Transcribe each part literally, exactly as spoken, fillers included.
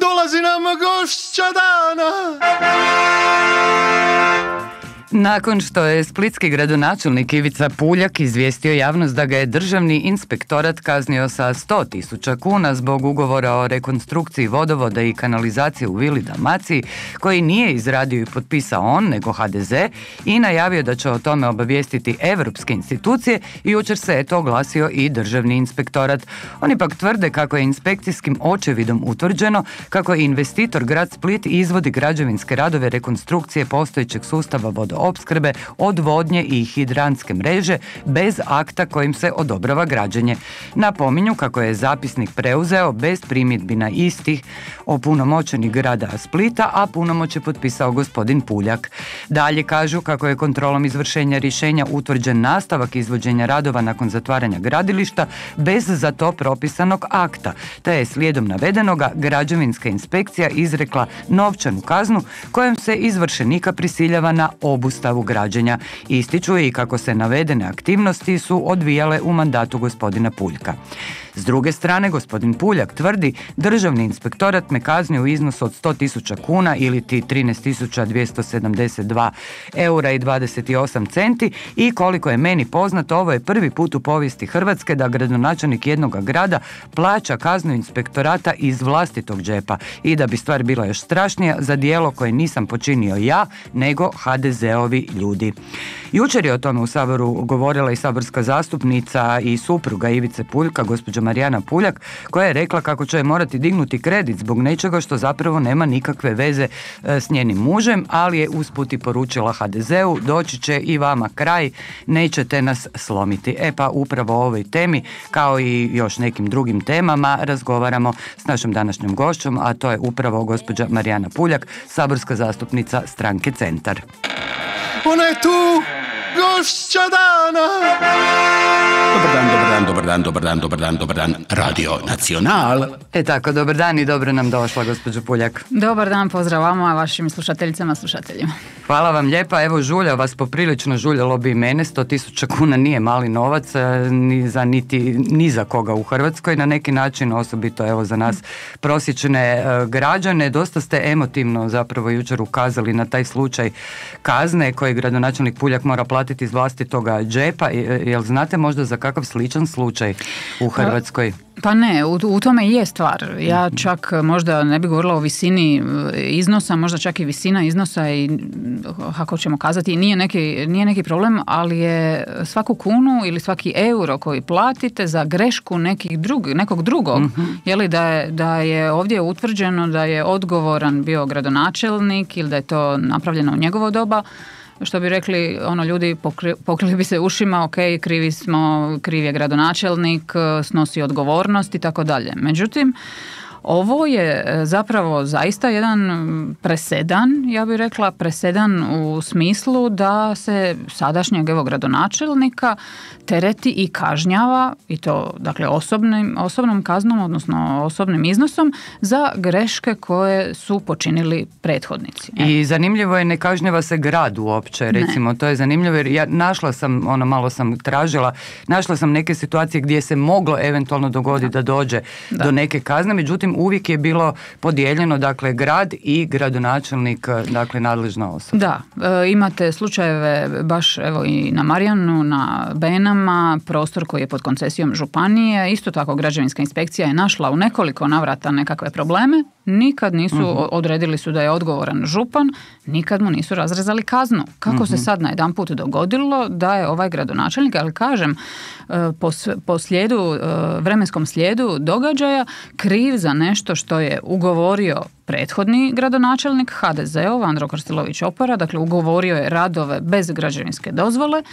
dolazi nam gošća dana. Nakon što je splitski gradonačelnik Ivica Puljak izvijestio javnost da ga je Državni inspektorat kaznio sa sto tisuća kuna zbog ugovora o rekonstrukciji vodovoda i kanalizacije u Vili Dalmaciji, koji nije izradio i potpisao on, nego ha de ze, i najavio da će o tome obavijestiti evropske institucije, jučer se je to oglasio i Državni inspektorat. Oni pak tvrde kako je inspekcijskim očevidom utvrđeno kako je investitor grad Split izvodi građevinske radove rekonstrukcije postojećeg sustava vodoopskrbe, odvodnje i hidrantske mreže bez akta kojim se odobrava građenje. Napominju kako je zapisnik preuzeo bez primjedbi na istih opunomoćenih grada Splita, a punomoć je potpisao gospodin Puljak. Dalje kažu kako je kontrolom izvršenja rješenja utvrđen nastavak izvođenja radova nakon zatvaranja gradilišta bez za to propisanog akta, te je slijedom navedenoga građevinska inspekcija izrekla novčanu kaznu kojom se izvršenika prisiljava na obustavu građenja. Ističu i kako se navedene aktivnosti su odvijale u mandatu gospodina Puljka. S druge strane, gospodin Puljak tvrdi: Državni inspektorat me kaznio u iznosu od sto tisuća kuna ili ti trinaest tisuća dvjesto sedamdeset dva eura i dvadeset osam centi i koliko je meni poznato, ovo je prvi put u povijesti Hrvatske da gradonačelnik jednoga grada plaća kaznu inspektorata iz vlastitog džepa i da bi stvar bila još strašnija, za djelo koje nisam počinio ja, nego ha de ze-ovi ljudi. Jučer je o tome u Saboru govorila i saborska zastupnica i supruga Ivice Puljka, gospođa Marijana Puljak, koja je rekla kako će morati dignuti kredit zbog nečega što zapravo nema nikakve veze s njenim mužem, ali je usput i poručila ha de ze-u: doći će i vama kraj, nećete nas slomiti. E pa upravo o ovoj temi, kao i još nekim drugim temama, razgovaramo s našom današnjom gošćom, a to je upravo gospođa Marijana Puljak, saborska zastupnica stranke Centar. Ona je tu, gošća dana. Dobar dan, dobar dan, dobar dan, dobar dan, dobar dan, dobar dan, Radio Nacional. E tako, dobar dan i dobro nam došla, gospođo Puljak. Dobar dan, pozdrav vama, vašim slušateljicama, slušateljima. Hvala vam lijepa, evo žulja vas poprilično, žuljalo bi i mene, sto tisuća kuna nije mali novac, ni za, niti, ni za koga u Hrvatskoj, na neki način, osobito evo za nas prosječne uh, građane. Dosta ste emotivno zapravo jučer ukazali na taj slučaj kazne koji gradonačelnik Puljak mora platiti iz vlastitoga džepa. Jel znate možda za kakav sličan slučaj u Hrvatskoj? Pa ne, u, u tome i je stvar. Ja čak možda ne bih govorila o visini iznosa, možda čak i visina iznosa i, kako ćemo kazati, nije neki, nije neki problem, ali je svaku kunu ili svaki euro koji platite za grešku nekih drug, nekog drugog, mm-hmm. je li da je, da je ovdje utvrđeno da je odgovoran bio gradonačelnik ili da je to napravljeno u njegovo doba, što bi rekli ono ljudi, pokri, pokrili bi se ušima, ok, krivi smo, kriv je gradonačelnik, snosi odgovornost i tako dalje. Međutim, ovo je zapravo zaista jedan presedan, ja bih rekla presedan u smislu da se sadašnjeg evo gradonačelnika tereti i kažnjava, i to dakle osobnim, osobnom kaznom, odnosno osobnim iznosom za greške koje su počinili prethodnici. E. I zanimljivo je, ne kažnjava se grad uopće, recimo, ne. To je zanimljivo jer ja našla sam, ono malo sam tražila, našla sam neke situacije gdje se moglo eventualno dogoditi da, da dođe da. do neke kazne, međutim uvijek je bilo podijeljeno, dakle, grad i gradonačelnik, dakle, nadležna osoba. Da, e, imate slučajeve baš evo i na Marijanu, na Benama, prostor koji je pod koncesijom županije, isto tako građevinska inspekcija je našla u nekoliko navrata nekakve probleme, nikad nisu, uh-huh. odredili su da je odgovoran župan, nikad mu nisu razrezali kaznu. Kako uh-huh. se sad najedanput dogodilo da je ovaj gradonačelnik, ali kažem, po, po slijedu, vremenskom slijedu događaja kriv za nešto što je ugovorio prethodni gradonačelnik ha de ze-ov, Andro Krstilović-Opara, dakle ugovorio je radove bez građevinske dozvole.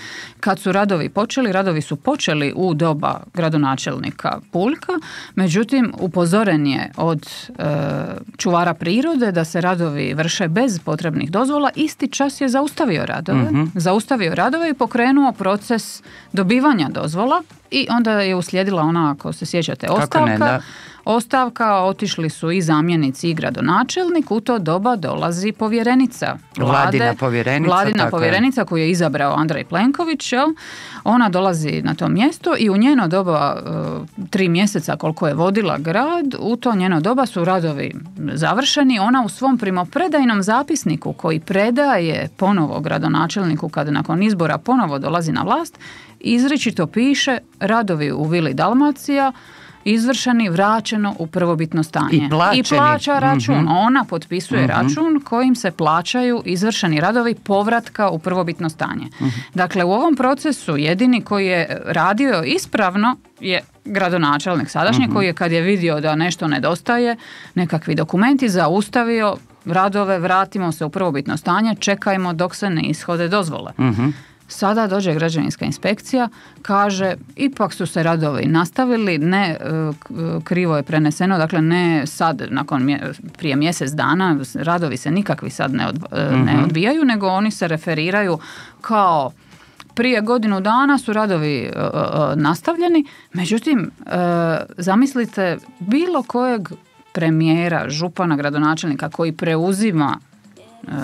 Kad su radovi počeli, radovi su počeli u doba gradonačelnika Puljka, međutim upozoren je od e, čuvara prirode da se radovi vrše bez potrebnih dozvola, isti čas je zaustavio radove, mm-hmm. zaustavio radove i pokrenuo proces dobivanja dozvola i onda je uslijedila ona, ako se sjećate, ostavka. Ne, da. Ostavka, otišli su i zamjenici i gradonačelnik, u to doba dolazi povjerenica vlade. Vladina povjerenica. Vladina povjerenica koju je izabrao Andrej Plenković, jel? Ona dolazi na to mjesto i u njeno doba, tri mjeseca koliko je vodila grad, u to njeno doba su radovi završeni. Ona u svom primopredajnom zapisniku koji predaje ponovo gradonačelniku kada nakon izbora ponovo dolazi na vlast, izričito piše radovi u Vili Dalmacija izvršeni, vraćeno u prvobitno stanje. I, I plaća račun. Mm-hmm. Ona potpisuje mm-hmm. račun kojim se plaćaju izvršeni radovi povratka u prvobitno stanje. Mm-hmm. Dakle, u ovom procesu jedini koji je radio ispravno je gradonačelnik sadašnji, mm-hmm. koji je kad je vidio da nešto nedostaje, nekakvi dokumenti, zaustavio radove, vratimo se u prvobitno stanje, čekajmo dok se ne ishode dozvole. Mm-hmm. Sada dođe građevinska inspekcija, kaže ipak su se radovi nastavili, ne krivo je preneseno, dakle ne sad nakon mje, prije mjesec dana, radovi se nikakvi sad ne, od, mm-hmm. ne odbijaju, nego oni se referiraju kao prije godinu dana su radovi uh, nastavljeni, međutim uh, zamislite bilo kojeg premijera, župana, gradonačelnika koji preuzima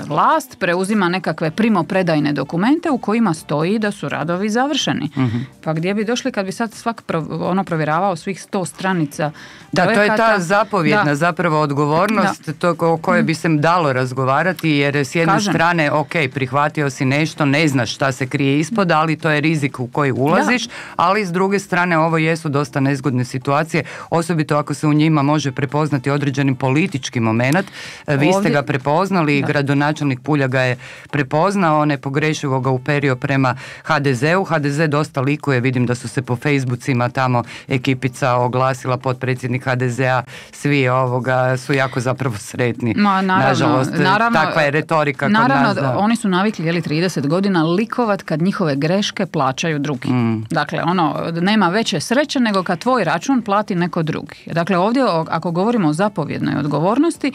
vlast, preuzima nekakve primopredajne dokumente u kojima stoji da su radovi završeni. Mm-hmm. Pa gdje bi došli kad bi sad svak pro, ono provjeravao svih sto stranica da, projekata. To je ta zapovjedna da. zapravo odgovornost, da. to o kojoj bi se dalo razgovarati, jer s jedne Kažem. strane, ok, prihvatio si nešto, ne znaš šta se krije ispod, ali to je rizik u koji ulaziš, da. ali s druge strane ovo jesu dosta nezgodne situacije, osobito ako se u njima može prepoznati određeni politički moment. Vi ste ga prepoznali, da. gradonačelnik Pulja ga je prepoznao, nepogrešivo ga uperio prema ha de zeu. ha de ze dosta likuje, vidim da su se po Facebookima tamo ekipica oglasila, potpredsjednik ha de zea, svi ovoga su jako zapravo sretni. Ma, naravno, Nažalost, naravno, takva je retorika naravno, kod nas. Da. Oni su navikli, jeli, trideset godina likovat kad njihove greške plaćaju drugi. Mm. Dakle, ono, nema veće sreće nego kad tvoj račun plati neko drugi. Dakle, ovdje, ako govorimo o zapovjednoj odgovornosti,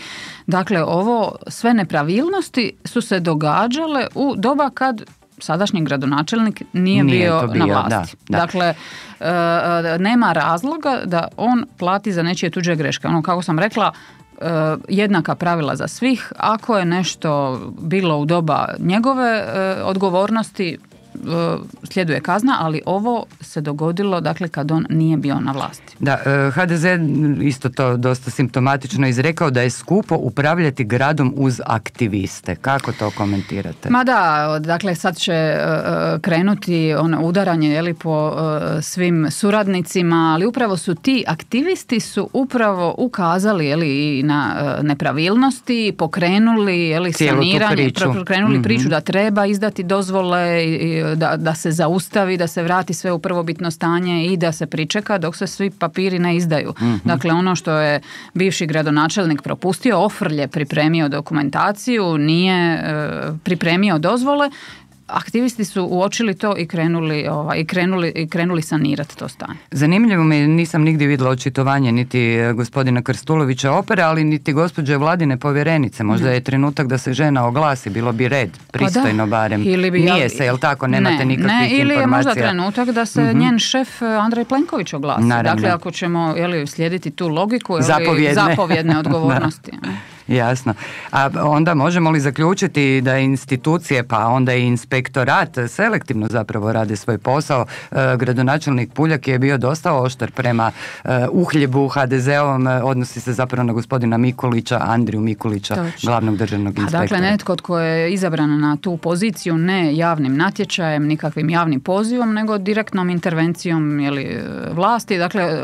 dakle, ovo sve nepravilnosti su se događale u doba kad sadašnji gradonačelnik nije, nije bio, bio na vlasti. Da, da. Dakle, e, nema razloga da on plati za nečije tuđe greške. Ono, kako sam rekla, e, jednaka pravila za svih. Ako je nešto bilo u doba njegove e, odgovornosti, sljeduje kazna, ali ovo se dogodilo, dakle, kad on nije bio na vlasti. Da, ha de ze isto to dosta simptomatično izrekao da je skupo upravljati gradom uz aktiviste. Kako to komentirate? Ma da, dakle, sad će krenuti ono udaranje, jeli, po svim suradnicima, ali upravo su ti aktivisti su upravo ukazali, jeli, i na nepravilnosti, pokrenuli, jeli, saniranje, priču. pokrenuli mm-hmm. priču da treba izdati dozvole i Da, da se zaustavi, da se vrati sve u prvobitno stanje i da se pričeka dok se svi papiri ne izdaju. Mm-hmm. Dakle, ono što je bivši gradonačelnik propustio, ofrlje pripremio dokumentaciju, nije e, pripremio dozvole, aktivisti su uočili to i krenuli, ovaj, i krenuli, i krenuli sanirati to stanje. Zanimljivo mi, nisam nigdje vidjela očitovanje niti gospodina Krstulovića Opere, ali niti gospođe Vladine povjerenice. Možda ne. je trenutak da se žena oglasi, bilo bi red, pristojno pa barem. Ili bi, Nije se, jel tako, nemate ne, nikakvih ne, ili informacija. Ili je možda trenutak da se mm-hmm. njen šef Andrej Plenković oglasi. Naravno. Dakle, ako ćemo, jeli, slijediti tu logiku, jeli, zapovjedne, zapovjedne odgovornosti. Jasno. A onda možemo li zaključiti da institucije, pa onda i inspektorat selektivno zapravo rade svoj posao? E, gradonačelnik Puljak je bio dosta oštar prema e, uhljebu ha de zeovom, odnosi se zapravo na gospodina Mikulića, Andriju Mikulića, Točno. glavnog državnog inspektora. A dakle, netko tko je izabran na tu poziciju ne javnim natječajem, nikakvim javnim pozivom, nego direktnom intervencijom, jeli, vlasti. Dakle,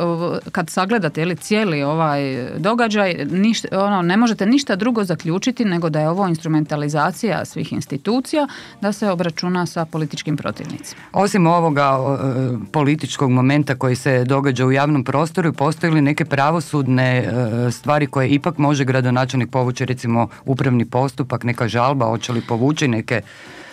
kad sagledate, jeli, cijeli ovaj događaj, ništa, ono, ne možete ništa drugo zaključiti nego da je ovo instrumentalizacija svih institucija da se obračuna sa političkim protivnicima. Osim ovoga o, političkog momenta koji se događa u javnom prostoru, postoji li neke pravosudne e, stvari koje ipak može gradonačelnik povući, recimo upravni postupak, neka žalba, hoće li povući neke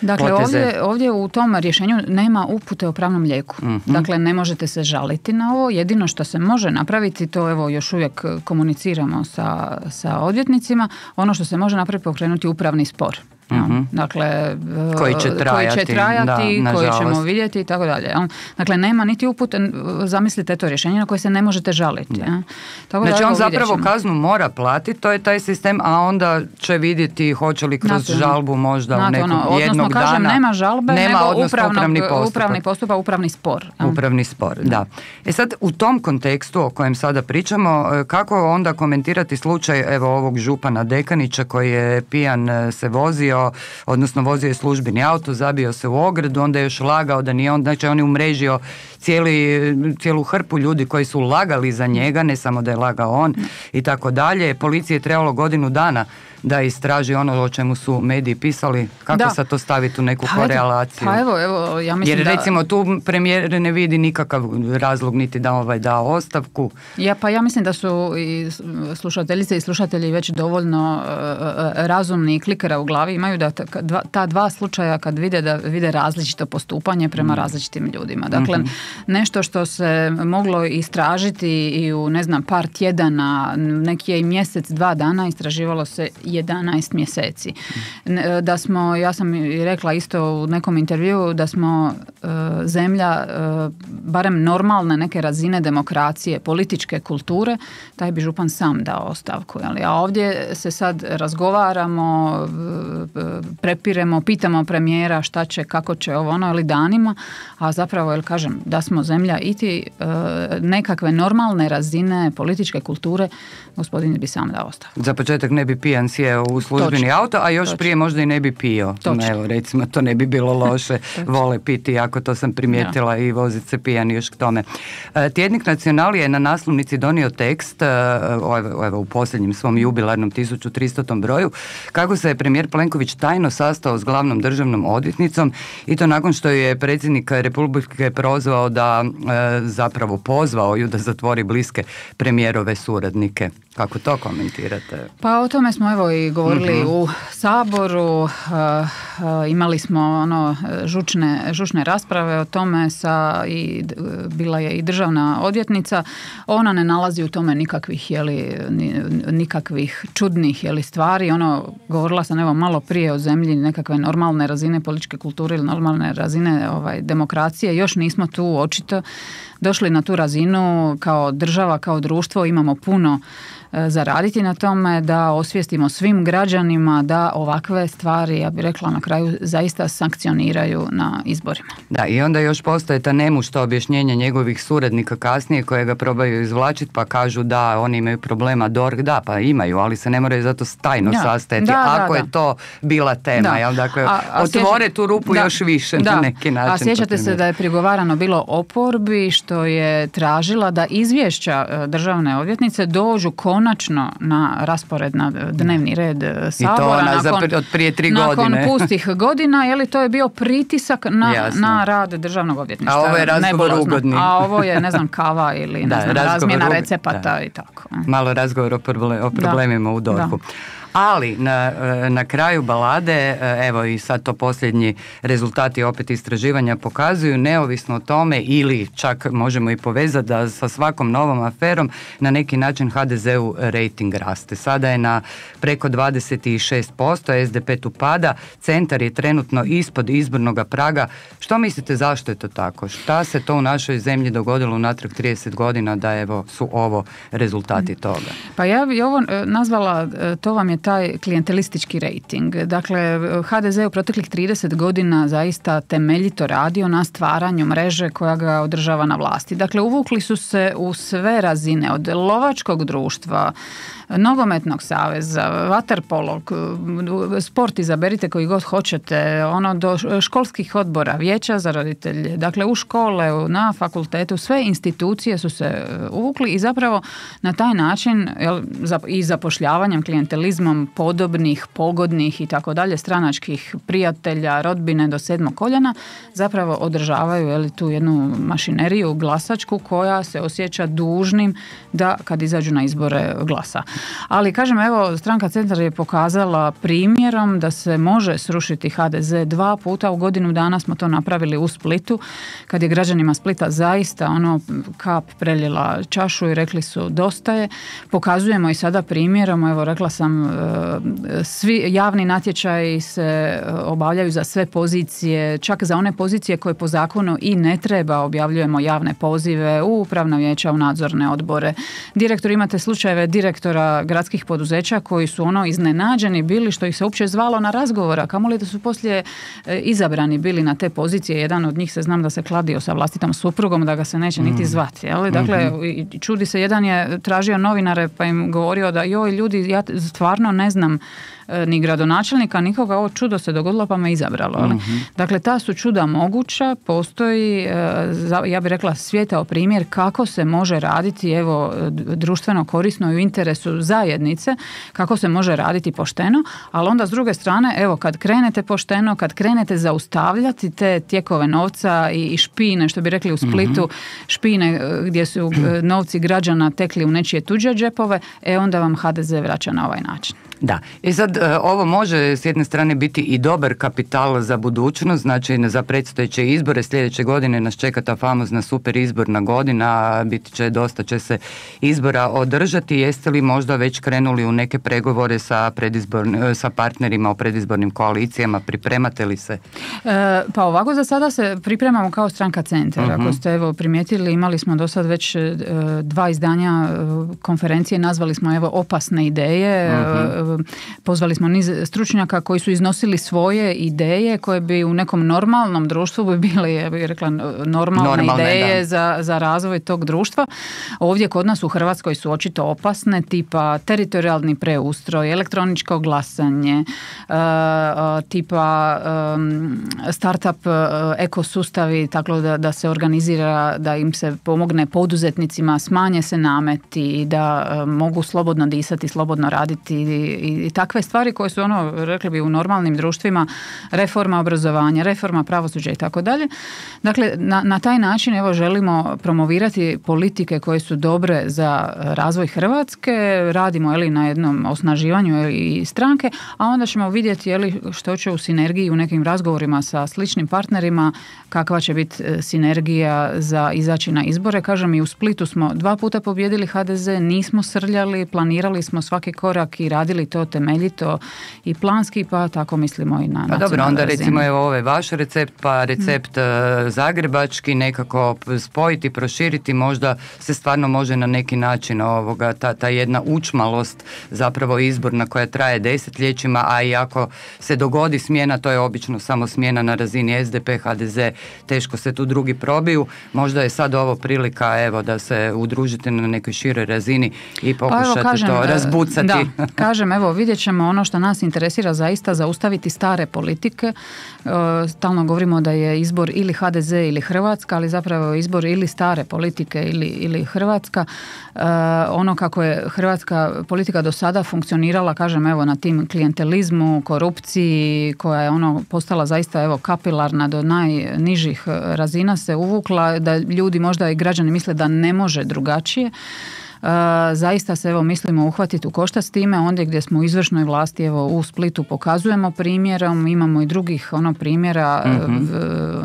Dakle, poteze? ovdje, ovdje u tom rješenju nema upute o pravnom lijeku. Mm-hmm. Dakle, ne možete se žaliti na ovo. Jedino što se može napraviti, to evo još uvijek komuniciramo sa, sa odvjetnicima, ono što se može napraviti pokrenuti upravni spor. Mm-hmm. Dakle, koji će trajati, koji, će trajati, da, koji ćemo vidjeti i tako dalje. Dakle, nema niti upute, zamislite to rješenje na koje se ne možete žaliti. Ja. Tako znači da, on zapravo kaznu mora platiti, to je taj sistem, a onda će vidjeti hoće li kroz znači, žalbu možda znači, u nekog ono, jednog odnosno, kažem, dana. Nema žalbe, nema, nego upravnog, upravni postupak. Upravni postupak, upravni spor. Ja. Upravni spor, da. E sad, u tom kontekstu o kojem sada pričamo, kako onda komentirati slučaj evo ovog župana Dekanića koji je pijan se vozio, odnosno vozio je službeni auto, zabio se u ogradu, onda je još lagao da nije on, znači on je umrežio cijeli, cijelu hrpu ljudi koji su lagali za njega, ne samo da je lagao on i tako dalje. Policiji je trebalo godinu dana da istraži ono o čemu su mediji pisali. Kako da. sad to staviti u neku pa korelaciju? Pa evo, evo, ja mislim Jer da... recimo tu premijer ne vidi nikakav razlog niti da ovaj da ostavku. Ja, pa ja mislim da su i slušateljice i slušatelji već dovoljno uh, razumni i klikera u glavi imaju da ta dva, ta dva slučaja kad vide da vide različito postupanje prema mm. različitim ljudima. Dakle, mm-hmm. nešto što se moglo istražiti i u ne znam par tjedana, neki je i mjesec, dva dana istraživalo se jedanaest mjeseci. Da smo, ja sam i rekla isto u nekom intervjuu da smo uh, zemlja uh, barem normalne neke razine demokracije, političke kulture, taj bi župan sam dao ostavku. Jeli? A ovdje se sad razgovaramo, prepiremo, pitamo premijera šta će, kako će ovo ono, ali danima, a zapravo, jel kažem, da smo zemlja iti uh, nekakve normalne razine političke kulture, gospodin bi sam dao ostavku. Za početak ne bi pijan sjeo u službeni Točno. auto, a još Točno. prije možda i ne bi pio. Točno. Evo, recimo, to ne bi bilo loše. Vole piti, ako to sam primijetila, ja. i voziti se pijan još k tome. Tjednik Nacional je na naslovnici donio tekst, evo, evo u posljednjem svom jubilarnom tisuću tristotom broju, kako se je premijer Plenković tajno sastao s glavnom državnom odvjetnicom i to nakon što je predsjednik Republike prozvao da e, zapravo pozvao ju da zatvori bliske premijerove suradnike. Kako to komentirate? Pa o tome smo evo i govorili mm-hmm. u Saboru, uh, uh, imali smo ono žučne, žučne rasprave o tome sa i bila je i državna odvjetnica. Ona ne nalazi u tome nikakvih jeli, nikakvih čudnih jeli, stvari. Ono, govorila sam evo malo prije o zemlji nekakve normalne razine političke kulture ili normalne razine ovaj, demokracije. Još nismo tu očito došli na tu razinu kao država, kao društvo. Imamo puno zaraditi na tome da osvijestimo svim građanima da ovakve stvari, ja bih rekla na kraju, zaista sankcioniraju na izborima. Da, i onda još postoje ta nemušta objašnjenja njegovih suradnika kasnije koje ga probaju izvlačiti pa kažu da oni imaju problema, D O R H, da, pa imaju, ali se ne moraju zato tajno ja. sastajati, da, ako da, je da. to bila tema. Da. Jel? Dakle, a, a otvore sjeća... tu rupu da. još više da. na neki način. A sjećate se da je prigovarano bilo oporbi što je tražila da izvješća državne odvjetnice dođu konačno na raspored na dnevni red Sabora. I to ona nakon, za, od prije tri nakon godine. Nakon pustih godina, je li to je bio pritisak na, na rad državnog odvjetništva. A ovo je razgovor ugodni. A ovo je, ne znam, kava ili ne da, znam, razmjena recepata da. i tako. Malo razgovor o, problem, o problemima da. u D O R H-u. Ali na, na kraju balade, evo i sad to posljednji rezultati opet istraživanja pokazuju, neovisno o tome ili čak možemo i povezati da sa svakom novom aferom na neki način ha de zeu rejting raste. Sada je na preko dvadeset šest posto, es de pe tu pada, Centar je trenutno ispod izbornog praga. Što mislite zašto je to tako? Šta se to u našoj zemlji dogodilo unatrag trideset godina da evo su ovo rezultati toga? Pa ja bi ovo nazvala, to vam je taj klijentelistički rejting. Dakle, ha de ze u proteklih trideset godina zaista temeljito radio na stvaranju mreže koja ga održava na vlasti. Dakle, uvukli su se u sve razine, od lovačkog društva, nogometnog saveza, vaterpolog, sport izaberite koji god hoćete, ono do školskih odbora, vijeća za roditelje, dakle u škole, na fakultetu, sve institucije su se uvukli i zapravo na taj način jel, i zapošljavanjem, klijentelizmom podobnih, pogodnih i tako dalje, stranačkih prijatelja, rodbine do sedmog koljena, zapravo održavaju jel, tu jednu mašineriju glasačku koja se osjeća dužnim da kad izađu na izbore glasa. Ali kažem, evo, stranka Centar je pokazala primjer primjerom da se može srušiti ha de ze dva puta u godinu dana. Smo to napravili u Splitu, kad je građanima Splita zaista ono kap preljela čašu i rekli su dosta je. Pokazujemo i sada primjerom, evo rekla sam, svi javni natječaji se obavljaju za sve pozicije, čak za one pozicije koje po zakonu i ne treba, objavljujemo javne pozive u upravna vijeća, u nadzorne odbore. Direktor, imate slučajeve direktora gradskih poduzeća koji su ono iznenađeni bili što ih se uopće zvalo na razgovora, kamoli da su poslije izabrani bili na te pozicije. Jedan od njih se znam da se kladio sa vlastitom suprugom da ga se neće niti zvati. Jel? Dakle, mm-hmm. čudi se, jedan je tražio novinare pa im govorio da joj ljudi, ja stvarno ne znam ni gradonačelnika, nikoga, ovo čudo se dogodilo pa me izabralo. Mm-hmm. Dakle, ta su čuda moguća, postoji, ja bih rekla, svijetao primjer kako se može raditi, evo, društveno korisno i u interesu zajednice, kako se može raditi pošteno, ali onda s druge strane, evo, kad krenete pošteno, kad krenete zaustavljati te tijekove novca i špine, što bi rekli u Splitu, mm-hmm. špine gdje su novci građana tekli u nečije tuđe džepove, e onda vam ha de ze vraća na ovaj način. Da, i sad ovo može s jedne strane biti i dobar kapital za budućnost, znači za predstojeće izbore. Sljedeće godine nas čeka ta famozna super izborna godina, biti će, dosta će se izbora održati. Jeste li možda već krenuli u neke pregovore sa, sa partnerima o predizbornim koalicijama, pripremate li se? E, pa ovako za sada se pripremamo kao stranka Centar. Uh-huh. Ako ste evo primijetili, imali smo do sad već e, dva izdanja e, konferencije, nazvali smo evo opasne ideje, uh-huh. pozvali smo niz stručnjaka koji su iznosili svoje ideje koje bi u nekom normalnom društvu bi bile, ja bih rekla, normalne, normalne ideje za, za razvoj tog društva. Ovdje kod nas u Hrvatskoj su očito opasne, tipa teritorijalni preustroj, elektroničko glasanje, tipa startup ekosustavi, tako da, da se organizira, da im se pomogne poduzetnicima, smanje se nameti, da mogu slobodno disati, slobodno raditi i, i takve stvari koje su ono, rekli bi, u normalnim društvima, reforma obrazovanja, reforma pravosuđa i tako dalje. Dakle, na, na taj način evo želimo promovirati politike koje su dobre za razvoj Hrvatske, radimo je li na jednom osnaživanju je li, i stranke, a onda ćemo vidjeti je li što će u sinergiji u nekim razgovorima sa sličnim partnerima, kakva će biti sinergija za izaći na izbore. Kažem, i u Splitu smo dva puta pobijedili ha de ze, nismo srljali, planirali smo svaki korak i radili to temeljito i planski, pa tako mislimo i na nacionalnoj razini. Pa dobro, onda recimo evo ovaj vaš recept, pa recept hmm. zagrebački, nekako spojiti, proširiti, možda se stvarno može na neki način ovoga, ta, ta jedna učmalost, zapravo izborna koja traje desetljećima, a i ako se dogodi smjena, to je obično samo smjena na razini es de pe, ha de ze, teško se tu drugi probiju. Možda je sad ovo prilika evo da se udružite na nekoj široj razini i pokušate pa evo, kažem, to razbucati. Da, kažem, evo vidjet ćemo ono što nas interesira zaista, zaustaviti stare politike. Stalno govorimo da je izbor ili ha de ze ili Hrvatska, ali zapravo je izbor ili stare politike ili, ili Hrvatska. Ono kako je hrvatska politika do sada funkcionirala, kažem, evo na tim klijentelizmu, korupciji, koja je ono postala zaista evo kapilarna do najnižih razina, se uvukla, da ljudi možda i građani misle da ne može drugačije. Uh, zaista se evo mislimo uhvatiti u koštac s time, ondje gdje smo u izvršnoj vlasti, evo u Splitu pokazujemo primjerom, imamo i drugih ono primjera, mm-hmm.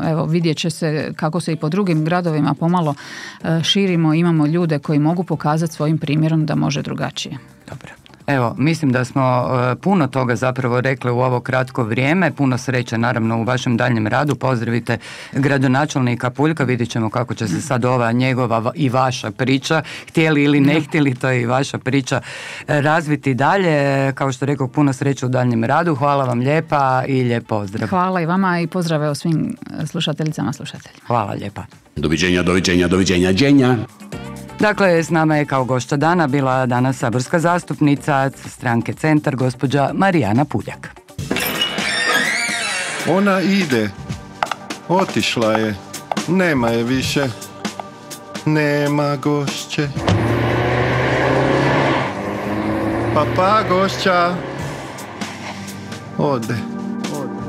evo vidjet će se kako se i po drugim gradovima pomalo uh, širimo, imamo ljude koji mogu pokazati svojim primjerom da može drugačije. Dobro. Evo, mislim da smo uh, puno toga zapravo rekli u ovo kratko vrijeme. Puno sreće naravno u vašem daljnjem radu. Pozdravite gradonačelnika Puljka. Vidjet ćemo kako će se sad ova njegova i vaša priča, htjeli ili ne htjeli, to je i vaša priča, razviti dalje. Kao što rekao, puno sreće u daljnjem radu. Hvala vam lijepa i lijep pozdrav. Hvala i vama i pozdrave o svim slušateljicama, slušateljima. Hvala lijepa. Doviđenja, doviđenja, doviđenja, dženja. Dakle, s nama je kao gošća dana bila danas saborska zastupnica stranke Centar, gospođa Marijana Puljak. Ona ide, otišla je, nema je više, nema gošće. Pa pa gošća, ode. Ode.